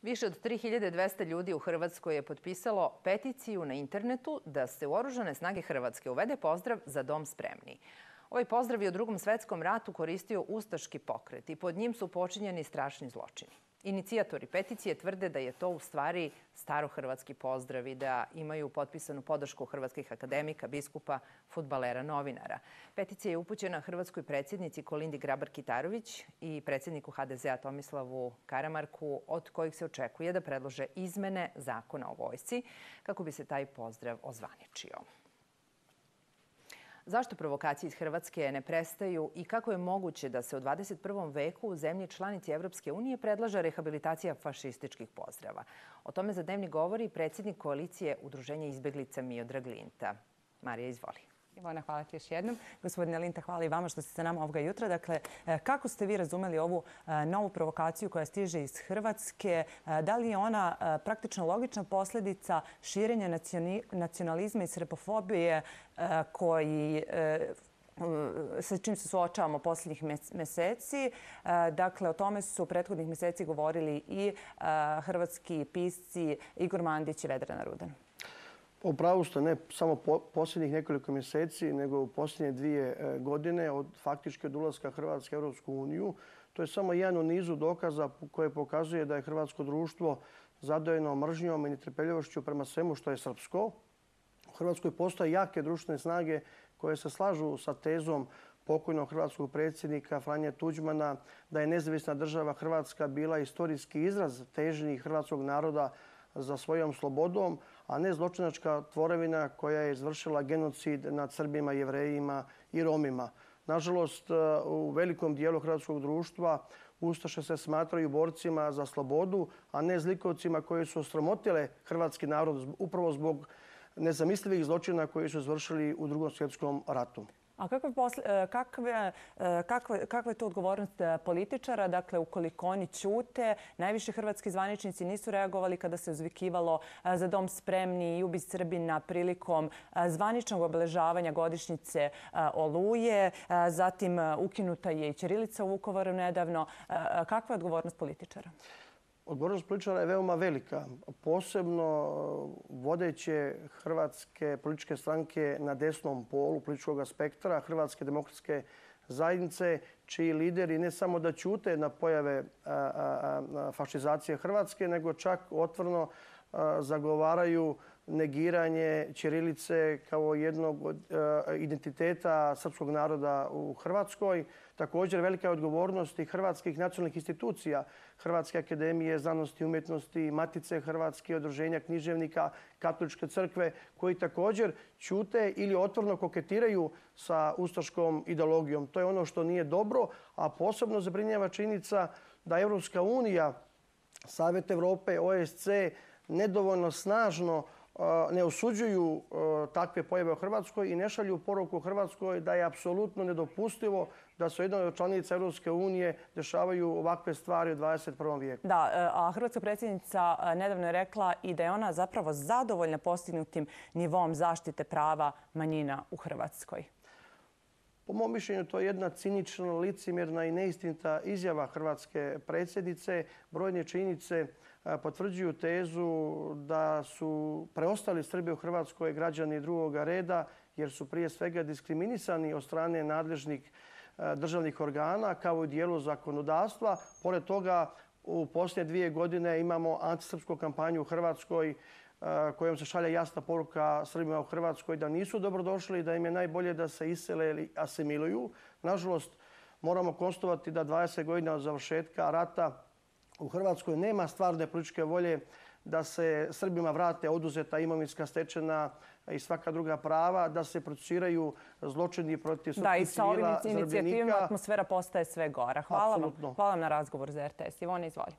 Više od 3200 ljudi u Hrvatskoj je potpisalo peticiju na internetu da se u Oružane snage Hrvatske uvede pozdrav "Za dom spremni". Ovaj pozdrav je u Drugom svetskom ratu koristio ustaški pokret i pod njim su počinjeni strašni zločini. Inicijatori peticije tvrde da je to u stvari starohrvatski pozdrav i da imaju potpisanu podršku hrvatskih akademika, biskupa, fudbalera, novinara. Peticija je upućena hrvatskoj predsjednici Kolindi Grabar-Kitarović i predsjedniku HDZ-a Tomislavu Karamarku, od kojih se očekuje da predlože izmene Zakona o vojsci kako bi se taj pozdrav ozvaničio. Zašto provokacije iz Hrvatske ne prestaju i kako je moguće da se u 21. veku u zemlji članici Evropske unije predlaže rehabilitacija fašističkih pozdrava? O tome za Dnevnik govori predsjednik koalicije Udruženja izbeglica Miodrag Linta. Marija, izvoli. Ivana, hvala ti još jednom. Gospodine Linta, hvala i vama što ste sa nama ovoga jutra. Dakle, kako ste vi razumeli ovu novu provokaciju koja stiže iz Hrvatske? Da li je ona praktično logična posljedica širenja nacionalizma i srpofobije sa čim se suočavamo posljednjih mjeseci? Dakle, o tome su prethodnih mjeseci govorili i hrvatski pisci Igor Mandić i Vedrana Rudan. U pravu ste, ne samo posljednjih nekoliko mjeseci, nego u posljednje 2 godine faktički od ulaska Hrvatske u Europsku uniju. To je samo jedan u nizu dokaza koje pokazuje da je hrvatsko društvo zadojeno mržnjom i netrpeljivošću prema svemu što je srpsko. U Hrvatskoj postoje jake društvene snage koje se slažu sa tezom pokojnog hrvatskog predsjednika Franje Tuđmana da je nezavisna država Hrvatska bila istorijski izraz težnji hrvatskog naroda za svojom slobodom, a ne zločinačka tvorevina koja je izvršila genocid nad Srbima, Jevrejima i Romima. Nažalost, u velikom dijelu hrvatskog društva ustaše se smatraju borcima za slobodu, a ne zlikovcima koji su osramotile hrvatski narod upravo zbog nezamislivih zločina koji su izvršili u Drugom svjetskom ratu. A kakva je to odgovornost političara? Dakle, ukoliko oni ćute, najviši hrvatski zvaničnici nisu reagovali kada se uzvikivalo "Za dom spremni" i "Ubi Srbina" prilikom zvaničnog obeležavanja godišnjice Oluje. Zatim ukinuta je i ćirilica u Vukovaru nedavno. Kakva je odgovornost političara? Odgovornost političara je veoma velika, posebno vodeće hrvatske političke stranke na desnom polu političkog spektra, Hrvatske demokratske zajednice, čiji lideri ne samo da ćute na pojave fašizacije Hrvatske, nego čak otvoreno zagovaraju negiranje ćirilice kao jednog od identiteta srpskog naroda u Hrvatskoj. Također velika je odgovornost i hrvatskih nacionalnih institucija, Hrvatske akademije znanosti i umjetnosti, Matice Hrvatske, Udruženja književnika, Katoličke crkve, koji također ćute ili otvoreno koketiraju sa ustaškom ideologijom. To je ono što nije dobro, a posebno zabrinjava činjenica da Evropska unija, Savjet Evrope, OSC nedovoljno snažno ne osuđuju takve pojave u Hrvatskoj i ne šalju poruku Hrvatskoj da je apsolutno nedopustivo da se u jednoj od članica Europske unije dešavaju ovakve stvari u 21. vijeku. Da, a hrvatska predsjednica nedavno je rekla i da je ona zapravo zadovoljna postignutim nivom zaštite prava manjina u Hrvatskoj. Po mom mišljenju to je jedna cinična, licemjerna i neistinita izjava hrvatske predsjednice. Brojne činjenice potvrđuju tezu da su preostali Srbi u Hrvatskoj građani drugoga reda jer su prije svega diskriminisani od strane nadležnih državnih organa kao i dijelu zakonodavstva. Pored toga, u posljednje 2 godine imamo antisrpsku kampanju u Hrvatskoj kojom se šalje jasna poruka Srbima u Hrvatskoj da nisu dobrodošli i da im je najbolje da se isele ili asimiluju. Nažalost, moramo konstatovati da 20 godina od završetka rata u Hrvatskoj nema stvarne političke volje da se Srbima vrate oduzeta imovinska stečena i svaka druga prava, da se procesuiraju zločini protiv srpskih civila, zarobljenika. Da, i sa ovim inicijativama atmosfera postaje sve gora. Hvala vam na razgovor za RTS. Ivona, izvoli.